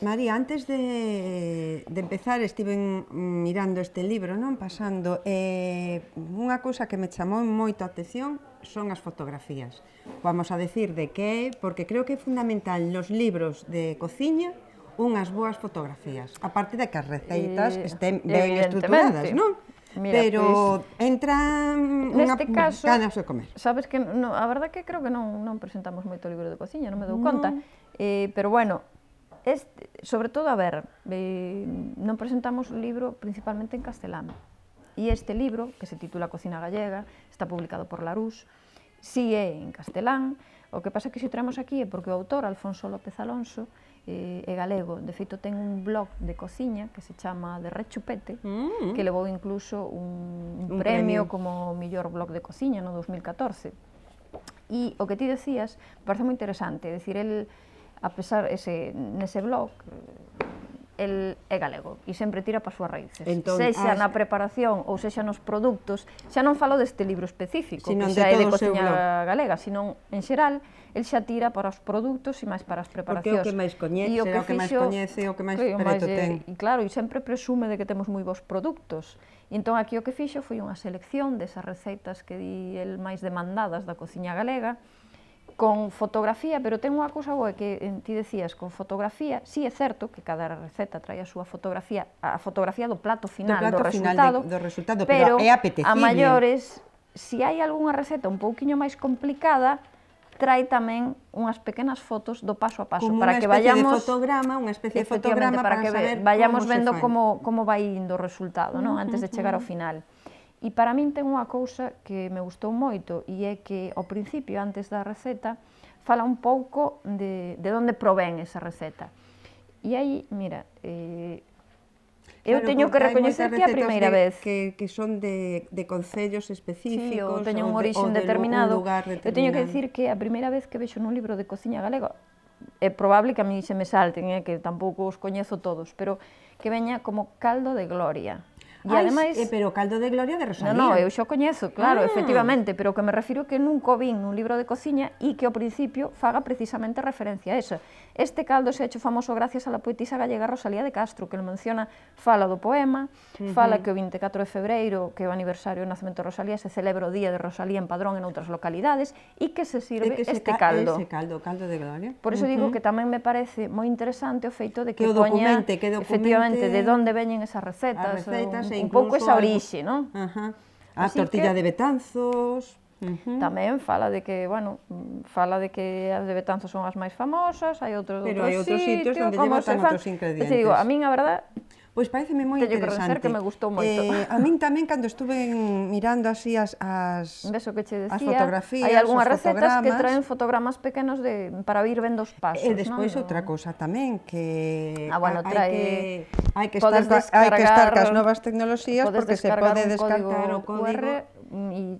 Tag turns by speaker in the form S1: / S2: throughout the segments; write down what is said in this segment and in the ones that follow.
S1: María, antes de empezar estiven mirando este libro, non? Pasando, unha cousa que me chamou moito a atención son as fotografías. Vamos a decir de que, porque creo que é fundamental nos libros de cociña unhas boas fotografías, aparte de que as receitas estén ben estruturadas, non?
S2: Mira,
S1: pero entran
S2: neste caso,
S1: ganas de comer.
S2: Sabes que a verdade que creo que non presentamos moito libro de cociña, non me dou conta, pero bueno, sobre todo, a ver, non presentamos o libro principalmente en castelán. E este libro, que se titula Cocina Gallega, está publicado por Larousse, si é en castelán. O que pasa que se o traemos aquí é porque o autor, Alfonso López Alonso, é galego. De feito, ten un blog de cociña que se chama De Rechupete, que levou incluso un premio como mellor blog de cociña no 2014. E o que ti decías parece moi interesante, é dicir, el, a pesar, nese blog, el é galego e sempre tira para as súas raíces, sexa na preparación ou sexa nos produtos. Xa non falo deste libro específico, que xa é de cociña galega, sino en xeral, el xa tira para os produtos e máis para as preparacións.
S1: Porque é o que máis coñece, o que máis coñece, o que máis preto ten.
S2: E claro, e sempre presume de que temos moi bons produtos. E entón aquí o que fixo foi unha selección desas receitas que di el máis demandadas da cociña galega, con fotografía, pero ten unha cousa boa que ti decías, con fotografía, sí é certo que cada receta trae a súa fotografía, a fotografía do plato final, do resultado,
S1: pero é apetecible.
S2: A maiores, se hai algunha receta un pouquiño máis complicada, trae tamén unhas pequenas fotos do paso a paso, para que vayamos
S1: unha especie de fotograma para que
S2: vayamos vendo como vai indo o resultado, antes de chegar ao final. E para min ten unha cousa que me gustou moito, e é que ao principio, antes da receta, fala un pouco de onde provén esa receta. E aí, mira, eu teño que recoñecer que é a primeira vez
S1: que son de concellos específicos,
S2: ou teñen un orixen determinado. Eu teño que dicir que a primeira vez que vexo nun libro de cociña galega, é probable que a mí se me salten, que tampouco os coñezo todos, pero que veña como caldo de gloria. E ademais,
S1: pero caldo de gloria de Rosalía.
S2: Non, eu xa o coñezo, claro, efectivamente, pero o que me refiro que nunca o vin nun libro de cociña e que ao principio faga precisamente referencia a eso. Este caldo se ha hecho famoso gracias a la poetisa gallega Rosalía de Castro, que le menciona, fala do poema, fala que o 24 de febreiro, que é o aniversario do nacemento de Rosalía, se celebra o día de Rosalía en Padrón en outras localidades, e que se sirve este caldo.
S1: Ese caldo de gloria.
S2: Por eso digo que tamén me parece moi interesante o feito de que poña, efectivamente, de onde veñen esas recetas, un pouco esa orixe, non?
S1: A tortilla de Betanzos.
S2: Tamén fala de que, bueno, as de Betanzos son as máis famosas, hai outros sitios,
S1: pero hai outros sitios onde llevan outros ingredientes.
S2: Digo, a min, a verdade,
S1: pois pareceme moi interesante.
S2: Que me gustou moito.
S1: A min tamén, cando estuve mirando así as fotografías,
S2: hai algunhas recetas que traen fotogramas pequenos para ir vendo os pasos.
S1: E despois outra cousa tamén, que hai que estar cas novas tecnoloxías, porque se pode descartar o código
S2: e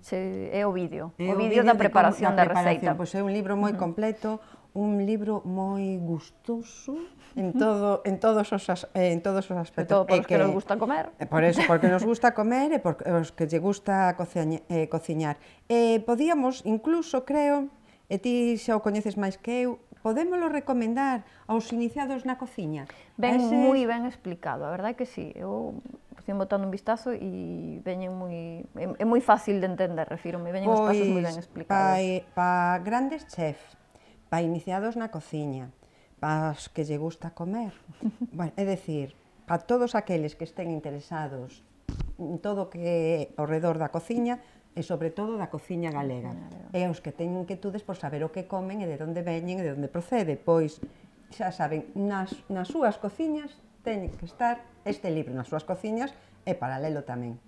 S2: é o vídeo da preparación da receita.
S1: Pois é un libro moi completo, un libro moi gustoso en todos os aspectos.
S2: Sobre todo para os que nos gusta comer.
S1: Por eso, porque nos gusta comer e porque os que lle gusta cociñar. Podíamos, incluso, creo, e ti xa o coñeces máis que eu, podémolo recomendar aos iniciados na cociña?
S2: Ben, moi ben explicado, a verdade que sí. Eu estou botando un vistazo e veñen é moi fácil de entender, refírome, veñen os pasos moi ben explicados.
S1: Para grandes chefs, para iniciados na cociña, para os que lle gusta comer, é dicir, para todos aqueles que estén interesados en todo o que é ao redor da cociña, e sobre todo da cociña galega. E os que teñen inquietudes por saber o que comen e de onde veñen e de onde procede, pois, xa saben, nas súas cociñas teñen que estar este libro, nas súas cociñas e paralelo tamén.